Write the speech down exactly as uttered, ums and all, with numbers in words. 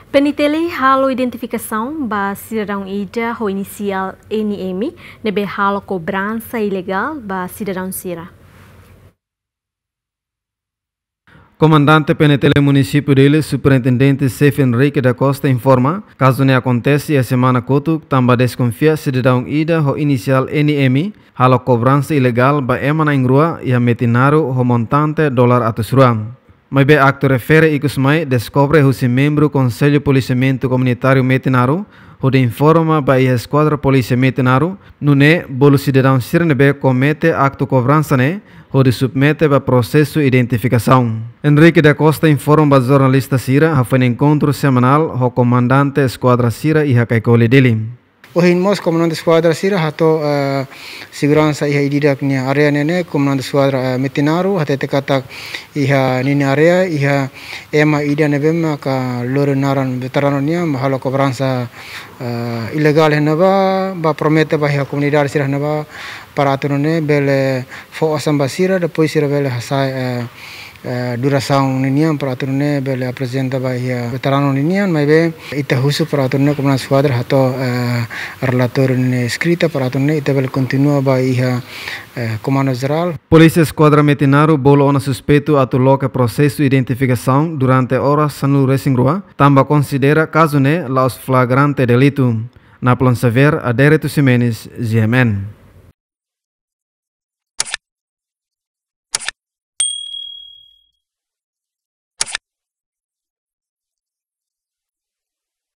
PNTL halo identifikasaun ba sidadaun ida ho inisiál NM ne'ebé halo kobransa ilegál ba sidadaun sira. Komandante PNTL Munisípiu Dili, Superintendente Xefe Henrique da Costa informa, kazu ne'e akontese iha semana kotuk, tanba deskonfia sidadaun ida ho inisiál NM halo kobransa ilegál ba ema na'in-rua iha Metinaro ho montante dolar atus rua. Maibé aktu refere ikus mai deskobre husi membru Konsellu Polisiamentu Komunitáriu Metinaro, hodi informa ba iha Eskuadra Polísia Metinaro, nune'e bolu sidadaun sira ne'ebé komete aktu kobransa ne'e hodi submete ba prosesu identifikasaun. Henrique da Costa informa ba jornalista sira hafoin enkontru semanál ho komandante eskuadra sira iha Caicoli, Dili. Ohin mós komandante eskuadra sira hato'o, eh, seguransa iha ida-idak nia área ne'e ne'e, komandante eskuadra, eh, Metinaro, hatete katak iha ninia área, iha ema ida ne'ebé maka lori naran veteranu nian, halo kobransa, eh, ilegál iha ne'ebá, ba promete ba iha komunidade sira iha ne'ebá, para atu nune'e bele fó osan ba sira, depois sira bele hasa'e, eh, eh, durasaun ninian para atu nune'e bele aprezenta ba iha veteranu ninian, maibé ita husu para atu nune'e komandante eskuadra hato'o, eh, relatóriu ne'e eskrita para atu nune'e ita bele kontinua ba iha, eh, Komandu Jerál. Polísia Eskuadra Metinaro bolu ona suspeitu atu loke prosesu identifikasaun durante oras sanulu-resin-rua, tanba konsidera kazu ne'e la'ós flagrante delitu. Napoleon Xavier, Adérito Ximenes, G M N.